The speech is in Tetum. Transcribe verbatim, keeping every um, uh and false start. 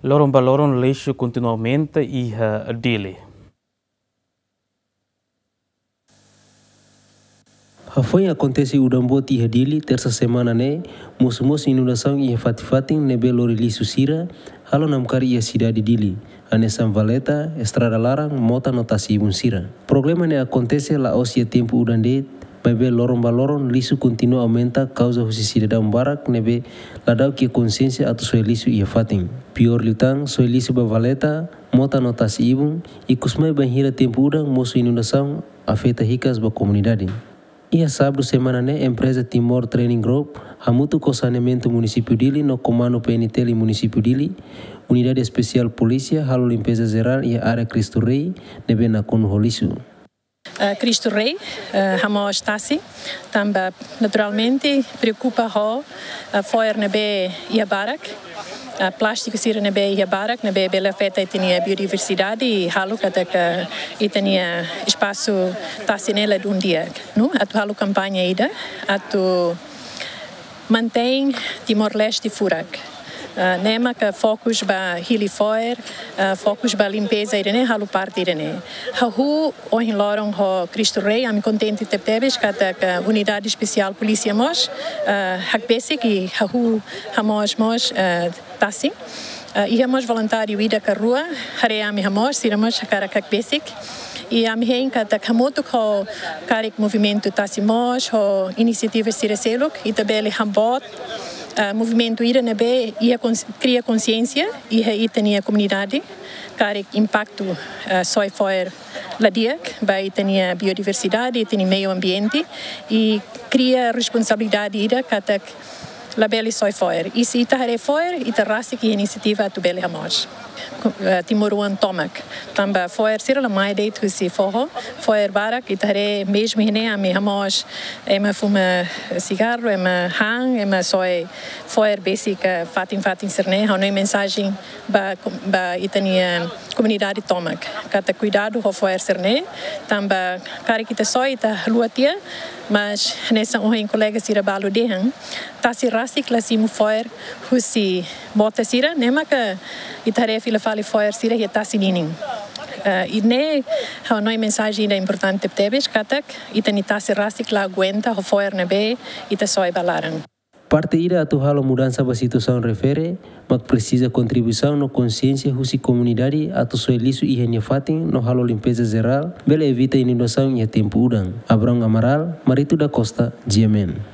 Loron ba loron lixu kontinua aumenta iha Dili. Hafoin akontese udan boot iha Dili, tersa semana ne'e, mosu mós inundasaun iha fatin-fatin ne'ebé lori lixu sira halo namkari iha sidade Dili, hanesan valeta, estrada laran, mota no tasi-ibun sira. Problema ne'e akontese la'ós iha tempu udan de'it, maibé loron ba loron lixu kontinua aumenta kauza husi sidadaun barak ne'ebé ladún iha konsiénsia atu soe lixu iha fatin. Piór liután, soe lixu ba valeta, mota no tasi-ibun, ikusmai bainhira tempu udan mosu inundasaun afeta hikas ba komunidade. Iha sábadu semana ne'e, empreza Timor Training Group hamutuk ho Saneamentu Munisípiu Dili no Komandu P N T L Munisípiu Dili, Unidade Espesiál Polísia halo limpeza jerál iha área Cristo Rei ne'ebé nakonu ho lixu. Ah, Cristo Rei, ah, hamoos tasi, tanba naturalmente preokupa ho, ah, fo'er ne'ebé iha barak, ah, plástiku sira ne'ebé iha barak, ne'ebé bele afeta ita-nia biodiversidade i halo katak ita-nia espasu tasi ne'e ladún di'ak. No atu halo kampaña ida atu mantein Timor-Leste furak. Ah, ne'e maka fokus ba hili fo'er, ah, fokus ba limpeza ida-ne'e, halo parte ida-ne'e. Hahú ohin loron ho Cristo Rei, ami kontente tebetebes katak Unidade Espesiál Polísia mós, ah, hakbesik i hahú hamoos mós, ah, tasi. Ah, iha mós voluntáriu ida ka rua haree ami hamoos, sira mós hakarak hakbesik. I ami hein katak hamutuk ho karik movimentu tasi moos, ho inisiativa sira seluk, ita bele haboot, ah, movimentu ida ne'ebé iha kons-, kria konsiénsia iha ita-nia komunidade, karik impaktu, ah, soe fo'er la di'ak ba ita-nia biodiversidade, ita-nia meiu ambiente, i kria responsabilidade ida katak labele soe fo'er. I se ita haree fo'er, ita rasik iha inisiativa atu bele hamoos. Ku-, eh, timoroan tomak. Tanba fo'er sira la mai de'it husi foho, fo'er barak, ita haree mezmu iha ne'e ami hamoos, ema fuma sigarru, ema han, ema soe fo'er besik, eh, fatin-fatin sira-ne'e, ha'u hanoin mensajen ba, ba ita-nia komunidade tomak. Katak kuidadu ho fo'er sira-ne'e, tanba karik ita soe ita haluha tiha, mas hanesan ohin kolega sira balu dehan, tasi rasik la simu fo'er husi mota sira, ne'e maka ita haree fila fali fo'er sira iha tasi ninin. Eh, i ne'e ha'u hanoin mensajen ida importante tebes, katak ita-nia tasi rasik la aguenta ho fo'er ne'ebé ita soe ba laran. Parte ida atu halo mudansa ba situasaun refere, mak presiza kontribuisaun no konsiénsia husi komunidade atu soe lixu iha nia fatin no halo limpeza jerál, bele evita inundasaun iha tempu udan. Abrão Amaral, Marito da Costa, G M N.